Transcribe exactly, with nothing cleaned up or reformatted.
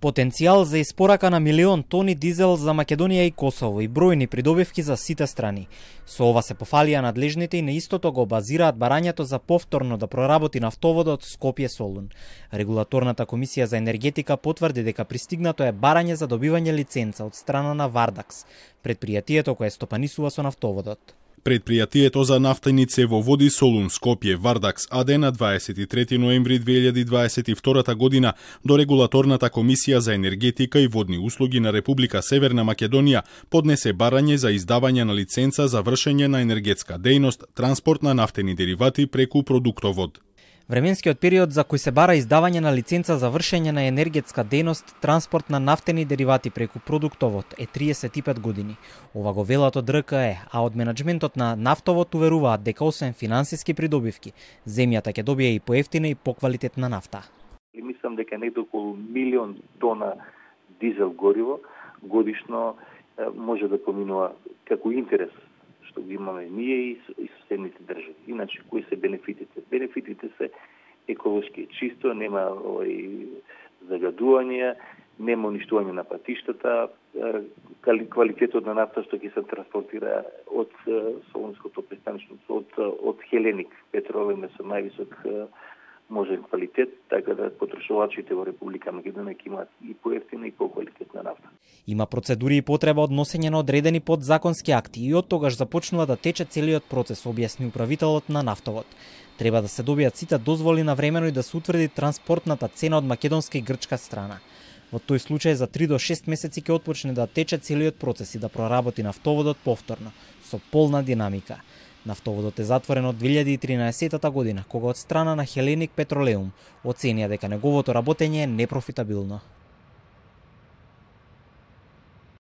Потенцијал за испорака на милион тони дизел за Македонија и Косово и бројни придобивки за сите страни. Со ова се пофалија надлежните и на истото го базираат барањето за повторно да проработи нафтоводот Скопје-Солун. Регулаторната комисија за енергетика потврди дека пристигнато е барање за добивање лиценца од страна на Вардакс, предпријатието кое стопанисува со нафтоводот. Предпријатието за нафтени цевоводи Солун Скопје Вардакс АД на дваесет и трети ноември две илјади дваесет и втора година до Регулаторната комисија за енергетика и водни услуги на Република Северна Македонија поднесе барање за издавање на лиценца за вршење на енергетска дејност, транспорт на нафтени деривати преку продуктовод. Временскиот период за кој се бара издавање на лиценца за вршење на енергетска дејност, транспорт на нафтени деривати преку продуктовод е триесет и пет години. Ова го велат од РКЕ, а од менаџментот на нафтовод уверуваат дека освен финансиски придобивки, земјата ќе добие и поевтина и поквалитетна нафта. Мислам дека некаде околу милион тона дизел гориво годишно може да поминува како интерес што го имаме ние и соседните држави. Иначе, кои се бенефитите? Бенефитите се еколошки чисто, нема овој загадување, нема уништување на патиштата, квалитетот на нафта што ќе се транспортира од Солунското пристанишно, од, од Хеленик петролем со највисок можен квалитет, така да потрошувачите во Република Македонија ќе имаат и поевтина и поквалитетна нафта. Има процедури и потреба од носење на одредени подзаконски акти и од тогаш започнува да тече целиот процес, објасни управителот на нафтовод. Треба да се добијат сите дозволи навремено и да се утврди транспортната цена од македонска и грчка страна. Во тој случај за три до шест месеци ќе отпочне да тече целиот процес и да проработи нафтоводот повторно, со полна динамика. Нафтоводот е затворен од две илјади и тринаесета година, кога од страна на Хеленик Петролеум оценија дека неговото работење е непрофитабилно.